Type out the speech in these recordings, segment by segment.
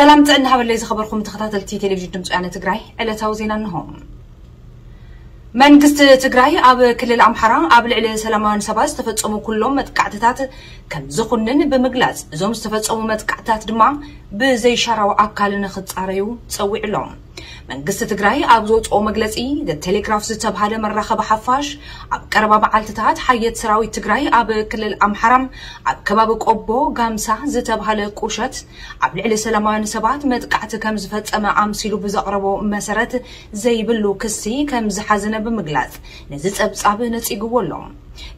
ሰላም ጥዕና ሃበለይ ዝኸበርኩም ተኸታተልቲ ቴሌቪዥን ድምፂ ወያነ ትግራይ፣ ዕለታዊ ዜና እንሆ። መንግስቲ ትግራይ ኣብ ክልል ኣምሓራ ኣብ ልዕሊ ሰላማውያን ሰባት ዝተፈጸሙ ኩሎም መጥቃዕትታት ከም ዝኹንን ብምግላጽ፣ እዞም ዝተፈጸሙ መጥቃዕትታት ድማ ብዘይሻራዊ ኣካል ንኽጻረዩ ጸዊዑ ኣሎ። መንግስቲ ትግራይ ኣብ ዘውፅኦ መግለፂ፣ ዘ ቴሌግራፍ ዝተብሃለ መራኸቢ ሓፋሽ፣ ኣብ ቀረባ መዓልትታት ሓየት ሰራዊት ትግራይ ኣብ ክልል ኣምሓራ ኣብ ከባቢ ቆቦ ጋምሳ ዝተብሃለ ቁሸት ኣብ ልዕሊ ሰላማውያን ሰባት መጥቃዕቲ ከም ዝፈጸመ ኣምሲሉ ብዘቕረቦ መሰረት ዘይብሉ ክሲ ከም ዝሓዘነ ብምግላጽ፣ ነዚ ጸብጻብ ነጺግዎ ኣሎ።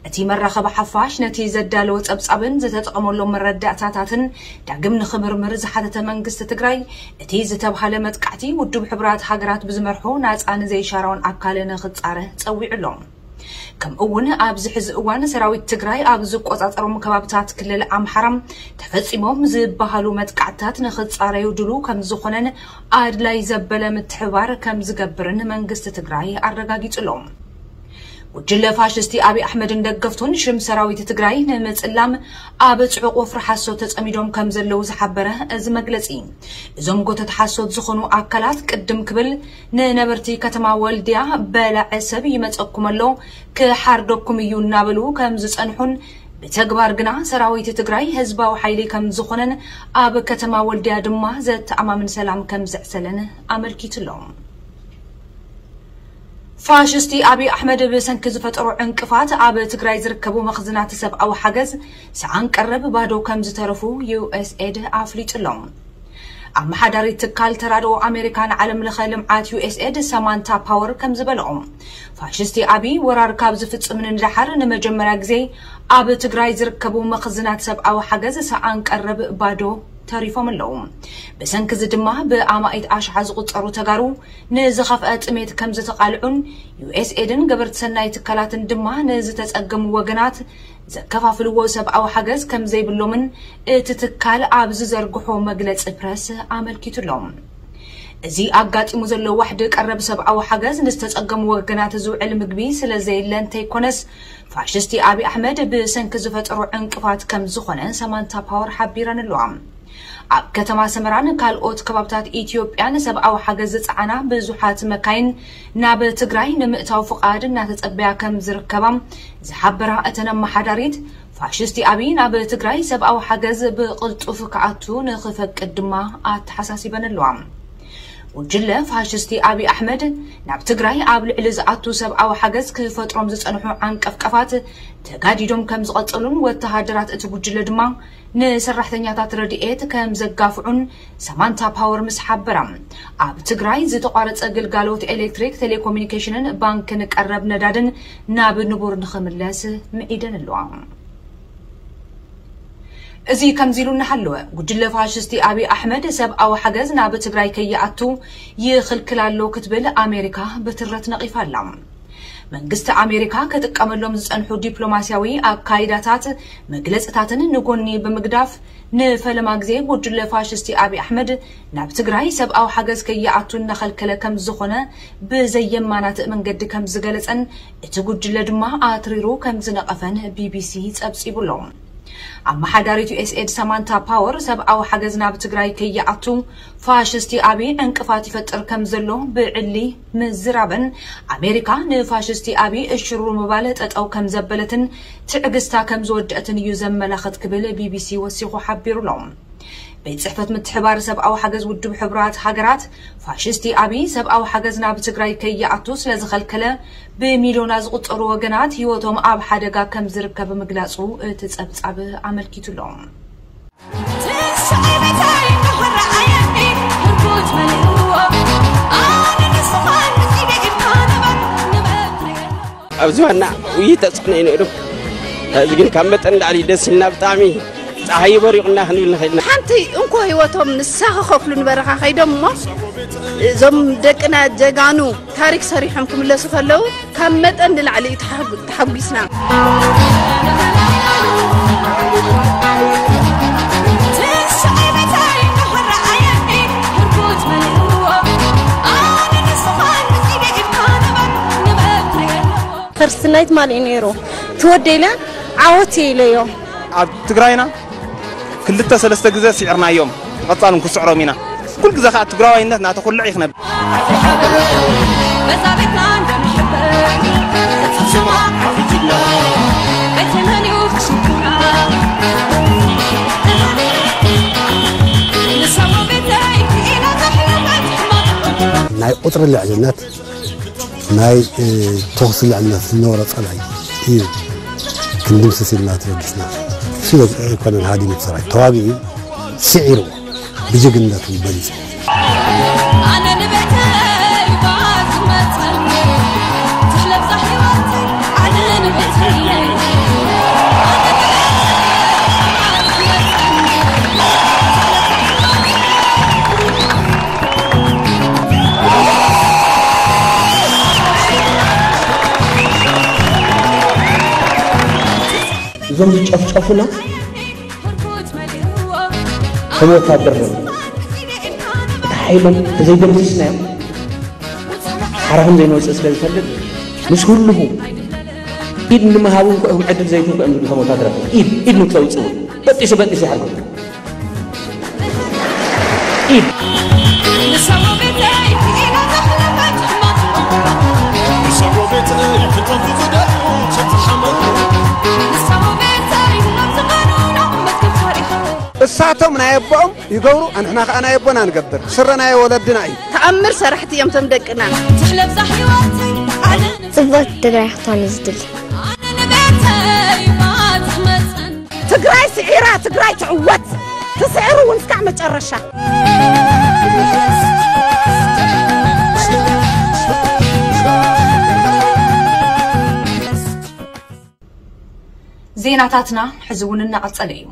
እቲ መራኸቢ ሓፋሽ ነቲ ዘዳለወ ጸብጻብን ዝተጠቐመሎም መረዳእታታትን ዳግም ንኽምርምር ዝሓተተ መንግስቲ ትግራይ፣ እቲ ዝተብሃለ መጥቃዕቲ ውድብ ሕቡራት ሃገራት ብዝመርሖ ናጻን ዘይሻራውን ኣካል ንኽጻረ ጸዊዑ ኣሎ። ከምኡ እውን ኣብዚ ሕዚ እዋን ሰራዊት ትግራይ ኣብ ዝቆጻጸሮም ከባብታት ክልል ኣምሓራ ተፈጺሞም ዝበሃሉ መጥቃዕትታት ንኽጻረዩ ድሉ ከም ዝኾነን ኣድላይ ዘበለ ምትሕባር ከም ዝገብርን መንግስቲ ትግራይ ኣረጋጊጹ ኣሎ። ጉጅለ ፋሽስቲ ኣብይ ኣሕመድን ደገፍቱን ሽም ሰራዊት ትግራይ ንምጽላም ኣብ ጽዑቕ ወፍሪ ሓሶት ተጸሚዶም ከም ዘለዉ ዝሓበረ እዚ መግለጺ፣ እዞም ጎተት ሓሶት ዝኾኑ ኣካላት ቅድም ክብል ንነበርቲ ከተማ ወልድያ በላዐ ሰብ ይመጸኩም ኣሎ፣ ክሓርደኩም እዩ እናበሉ ከም ዝጸንሑን ብተግባር ግና ሰራዊት ትግራይ ህዝባዊ ሓይሊ ከም ዝኾነን ኣብ ከተማ ወልድያ ድማ ዘተኣማምን ሰላም ከም ዘዕሰለን ኣመልኪቱ ኣሎ። ፋሽስቲ ኣብይ ኣሕመድ ብሰንኪ ዝፈጠሮ ዕንቅፋት ኣብ ትግራይ ዝርከቡ መኽዝናት ሰብኣዊ ሓገዝ ሰኣን ቀረብ ባዶ ከም ዝተረፉ ዩ ኤስ ኤድ ኣፍሊጡ ኣሎ። ኣመሓዳሪት ትካል ተራድኦ ኣሜሪካ ንዓለም ለኸ ልምዓት ዩ ኤስ ኤድ ሳማንታ ፓወር ከም ዝበለኦ፣ ፋሽስቲ ኣብይ ወራር ካብ ዝፍጽም ንድሓር ንመጀመርያ ግዜ ኣብ ትግራይ ዝርከቡ መኽዝናት ሰብኣዊ ሓገዝ ሰኣን ቀረብ ባዶ ተሪፎም ኣለዉ። ብሰንኪ እዚ ድማ ብኣማኢት ኣሽሓ ዝቑጸሩ ተጋሩ ንዝኸፍአ ጥሜት ከም ዝተቓልዑን ዩ ኤስ ኤድን ገበርቲ ሰናይ ትካላትን ድማ ንዝተጸገሙ ወገናት ዘከፋፍልዎ ሰብኣዊ ሓገዝ ከም ዘይብሎምን እቲ ትካል ኣብ ዝዘርግሖ መግለጺ ፕረስ ኣመልኪቱ ኣሎ። እዚ ኣጋጢሙ ዘሎ ዋሕዲ ቀረብ ሰብኣዊ ሓገዝ ንዝተጸገሙ ወገናት ዝውዕል ምግቢ ስለ ዘየለ እንተይኮነስ፣ ፋሽስቲ ኣብይ ኣሕመድ ብሰንኪ ዝፈጠሮ ዕንቅፋት ከም ዝኾነ ሳማንታ ፓወር ሓቢረን ኣለዋ። ኣብ ከተማ ሰመራን ካልኦት ከባብታት ኢትዮጵያን ሰብኣዊ ሓገዝ ዝጸዓና ብዙሓት መካይን ናብ ትግራይ ንምእታው ፍቓድ እናተጸበያ ከም ዝርከባ ዝሓበራ እተን ኣመሓዳሪት፣ ፋሽስቲ ኣብይ ናብ ትግራይ ሰብኣዊ ሓገዝ ብቕልጡፍ ክኣቱ ንኽፈቅድ ድማ ኣተሓሳሲበን ኣለዋ። ጉጅለ ፋሽስቲ ኣብይ ኣሕመድ ናብ ትግራይ ኣብ ልዕሊ ዝኣቱ ሰብኣዊ ሓገዝ ክፈጥሮም ዝጸንሑ ዓንቀፍቀፋት ተጋዲዶም ከም ዝቐጸሉን ወተሃደራት እቲ ጉጅለ ድማ ንሰራሕተኛታት ረድኤት ከም ዘጋፍዑን ሳማንታ ፓወር ምስ ሓበራ፣ ኣብ ትግራይ ዝተቋረጸ ግልጋሎት ኤሌክትሪክ፣ ቴሌኮሙኒኬሽንን ባንክን ቀረብ ነዳድን ናብ ንቡር ንኽምለስ ምዒደን ኣለዋ። እዚ ከምዚ ኢሉ እናሃለወ፣ ጉጅለ ፋሽስቲ ኣብይ ኣሕመድ ሰብኣዊ ሓገዝ ናብ ትግራይ ከይኣቱ ይኽልክል ኣሎ ክትብል ኣሜሪካ ብትረት ነቒፋ ኣላ። መንግስቲ ኣሜሪካ ክጥቀመሎም ዝጸንሑ ዲፕሎማስያዊ ኣካይዳታት፣ መግለጽታትን ንጎኒ ብምግዳፍ፣ ንፈለማ ግዜ ጉጅለ ፋሽስቲ ኣብይ ኣሕመድ ናብ ትግራይ ሰብኣዊ ሓገዝ ከይኣቱ እናኸልከለ ከም ዝኾነ ብዘየማናትእ መንገዲ ከም ዝገለጸን እቲ ጉጅለ ድማ ኣትሪሩ ከም ዝነቐፈን ቢ ቢ ሲ ጸብጺቡ ኣሎ። ኣመሓዳሪት ዩ ኤስ ኤድ ሳማንታ ፓወር ሰብኣዊ ሓገዝ ናብ ትግራይ ከይኣቱ ፋሽስቲ ኣብይ ዕንቅፋት ይፈጥር ከም ዘሎ ብዕሊ ምዝራበን፣ ኣሜሪካ ንፋሽስቲ ኣብይ እሽሩ ምባል ጠጠው ከም ዘበለትን ትዕግስታ ከም ዝወደአትን እዩ ዘመላኽት ክብል ቢ ቢ ሲ ወሲኹ ሓቢሩ ኣሎ። ቤት ጽሕፈት ምትሕባር ሰብኣዊ ሓገዝ ውድብ ሕቡራት ሃገራት፣ ፋሽስቲ ኣብይ ሰብኣዊ ሓገዝ ናብ ትግራይ ከይኣቱ ስለ ዝኸልከለ፣ ብሚልዮና ዝቑጸሩ ወገናት ህይወቶም ኣብ ሓደጋ ከም ዝርከብ ምግላጹ እቲ ጸብጻብ ኣመልኪቱ ኣሎ። ኣብዚ ዋና ውይይት ተጽዕኖ እዩ ነይሩ። እዚ ግን ካብ መጠን ንላዕሊ ደስ ኢልና፣ ብጣዕሚ ጸሓይ በሪቑና ክንብል ንኽእል ኢና። ሓንቲ እንኮ ህይወቶም ንሳ ክኸፍሉ ንበረኻ ከይዶም እሞ፣ እዞም ደቅና ጀጋኑ ታሪክ ሰሪሖም ክምለሱ ከለዉ፣ ካብ መጠን ንላዕሊ እዩ ተሓጉ-፣ ተሓጒስና። ፈርስት ናይት ማን እዩ ነይሩ? ትወደ ኢለ ዓወት እየ ኢለዮ። ኣብ ትግራይና ክልተ ሰለስተ ግዜ ስዒርናዮም፣ ብቐጻል እውን ክስዕሮም ኢና። ኩሉ ግዜ ከዓ ትግራዋይነት እናተኹልዕ እዩ ክነብር። ናይ ቁፅሪ ልዕልነት ናይ ተኹሲ ልዕልነት ዝነበረ ፀላኢ እዩ ክንድምስስ ኢልና ተበጊስና። እሱ ኣይኮነን ሃዲሙ ሰራዊት ተዋጊኡ ስዒሩ ብጅግንነቱ በሊፁ። እዞም ዝጨፍጨፉና ከም ወታደር ነው። እቲ ሓይሎም ተዘይደምሲስናዮም ሓራ ከም ዘይንወፅእ ስለ ዝፈልጥ ምስ ህልኹ ኢድ ንምሃቡ እንኳ እዮም ዕድል ዘይትንኩ እዮም ዝብሉ። ከም ወታደራት ኢድ ኢድ ንክተውፅኡ በጢሱ በጢሱ ይሓርጎ ኢድ እሳቶም ናይ ኣቦኦም ይገብሩ፣ ኣንሕና ከዓ ናይ ኣቦና ንገብር። ስረ ናይ ወለድና እዩ። ተኣምር ሰራሕቲ እዮም ቶም ደቅና። ጽብቕቲ ትግራይ ክትኾን እዩ ዝድሊ። ትግራይ ስዒራ፣ ትግራይ ትዕወት። ትስዕር እውን እስካዕ መጨረሻ። ዜናታትና ሕዚ እውን እናቐጸለ እዩ።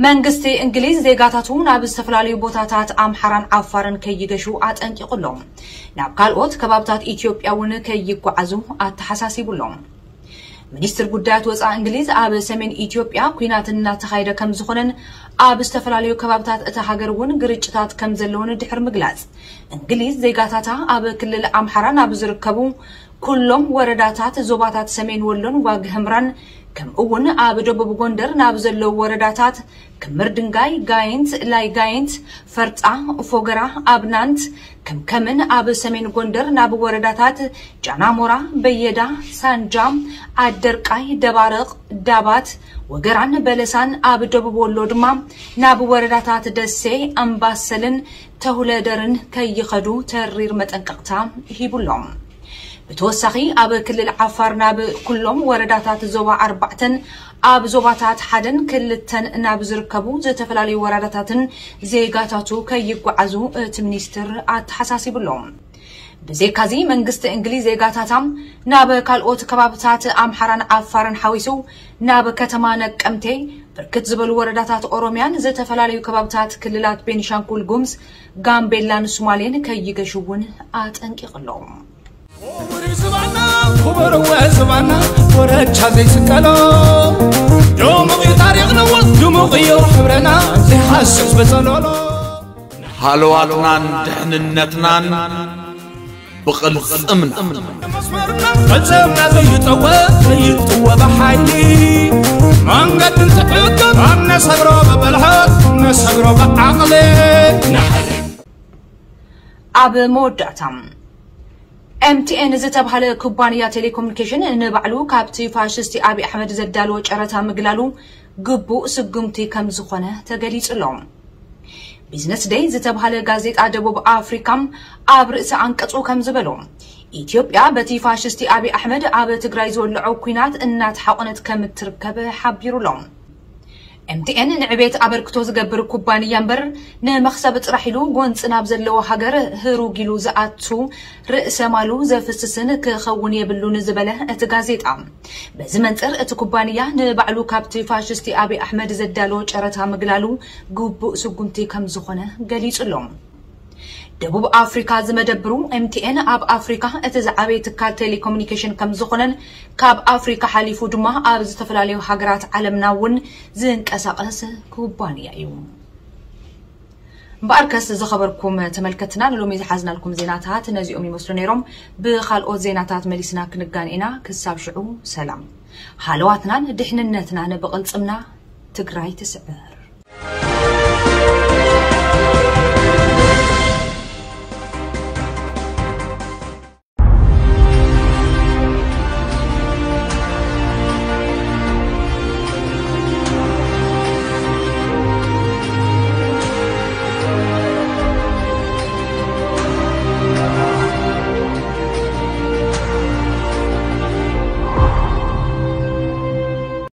መንግስቲ እንግሊዝ ዜጋታቱ ናብ ዝተፈላለዩ ቦታታት ኣምሓራን ዓፋርን ከይገሹ ኣጠንቂቑ ኣሎ። ናብ ካልኦት ከባብታት ኢትዮጵያ እውን ከይጓዓዙ ኣተሓሳሲቡ ኣሎ። ሚኒስትር ጉዳያት ወፃኢ እንግሊዝ ኣብ ሰሜን ኢትዮጵያ ኲናት እናተኻየደ ከም ዝኾነን ኣብ ዝተፈላለዩ ከባብታት እታ ሃገር እውን ግርጭታት ከም ዘለውን ድሕሪ ምግላፅ፣ እንግሊዝ ዜጋታታ ኣብ ክልል ኣምሓራ ናብ ዝርከቡ ኩሎም ወረዳታት ዞባታት ሰሜን ወሎን ዋግ ህምራን ከምኡ እውን ኣብ ደቡብ ጎንደር ናብ ዘለዉ ወረዳታት ክምር ድንጋይ፣ ጋይንት፣ ላይ ጋይንት፣ ፈርጣ፣ ፎገራ፣ ኣብናንት፣ ከምከምን ኣብ ሰሜን ጎንደር ናብ ወረዳታት ጃናሞራ፣ በየዳ፣ ሳንጃ፣ ዓደርቃይ፣ ደባርቕ፣ ዳባት፣ ወገራን በለሳን ኣብ ደቡብ ወሎ ድማ ናብ ወረዳታት ደሴ፣ ኣምባሰልን ተሁለደርን ከይኸዱ ተሪር መጠንቀቕታ ሂቡሎም። ብተወሳኺ ኣብ ክልል ዓፋር ናብ ኩሎም ወረዳታት ዞባ ኣርባዕተን ኣብ ዞባታት ሓደን ክልተን ናብ ዝርከቡ ዝተፈላለዩ ወረዳታትን ዜጋታቱ ከይጓዓዙ እቲ ሚኒስትር ኣተሓሳሲቡሎም። ብዘይካዚ መንግስቲ እንግሊዝ ዜጋታታ ናብ ካልኦት ከባብታት ኣምሓራን ዓፋርን ሓዊሱ ናብ ከተማ ነቀምቴ፣ ብርክት ዝበሉ ወረዳታት ኦሮሚያን ዝተፈላለዩ ከባብታት ክልላት ቤኒሻንጉል ጉምዝ፣ ጋምቤላን ሱማሌን ከይገሹ እውን ኣጠንቂቕሎም። ክቡር ዝባና ክቡር ወ ዝባና ወረቻ ዘይስቀሎ ድሙቕ እዩ ታሪኽና ድሙቕ እዩ ሕብረና ዘይሓስስ ብጸሎሎ ሃለዋትናን ድሕንነትናን ብቕልጽምና መስመርና ቅልጽምና ዘይጠወ ዘይጥወ ብሓይሊ መንገድን ትዕቅብ ኣብ ነሰግሮ ብብልሓት ነሰግሮ ብዓቕሊ ኣብ መወዳእታ ኤምቲኤን ዝተባህለ ኩባንያ ቴሌኮሙኒኬሽን ንባዕሉ ካብቲ ፋሽስቲ ኣብይ ኣሕመድ ዘዳለዎ ጨረታ ምግላሉ ግቡእ ስጉምቲ ከም ዝኾነ ተገሊጹ ኣሎ። ቢዝነስ ደይ ዝተባህለ ጋዜጣ ደቡብ ኣፍሪካ ኣብ ርእሲ ኣንቀጹ ከም ዝበሎ ኢትዮጵያ በቲ ፋሽስቲ ኣብይ ኣሕመድ ኣብ ትግራይ ዝወለዖ ኲናት እናተሓቆነት ከም እትርከብ ሓቢሩ ኣሎ። ኤምቲኤን ንዕቤት ኣበርክቶ ዝገብር ኩባንያ እምበር ንመኽሰብ ጥራሕ ኢሉ ጎንፂ ናብ ዘለዎ ሃገር ህሩግ ኢሉ ዝኣቱ ርእሰ ማሉ ዘፍስስን ክኸውን የብሉን ዝበለ እቲ ጋዜጣ፣ በዚ መንፅር እቲ ኩባንያ ንባዕሉ ካብቲ ፋሽስቲ ኣብይ ኣሕመድ ዘዳለዎ ጨረታ ምግላሉ ግቡእ ስጉምቲ ከም ዝኾነ ገሊፁ ኣሎ። ደቡብ ኣፍሪካ ዝመደብሩ ኤምቲኤን ኣብ ኣፍሪካ እቲ ዝዓበየ ትካል ቴሌኮሙኒኬሽን ከም ዝኾነን ካብ ኣፍሪካ ሓሊፉ ድማ ኣብ ዝተፈላለዩ ሃገራት ዓለምና እውን ዝንቀሳቐስ ኩባንያ እዩ። እምበኣርከስ ዝኸበርኩም ተመልከትና ንሎሚ ዝሓዝናልኩም ዜናታት ነዚኦም ይመስሉ ነይሮም። ብኻልኦት ዜናታት መሊስና ክንጋን ኢና። ክሳብ ሽዑ ሰላም። ሃለዋትናን ድሕንነትናን ብቕልጽምና። ትግራይ ትስዕር።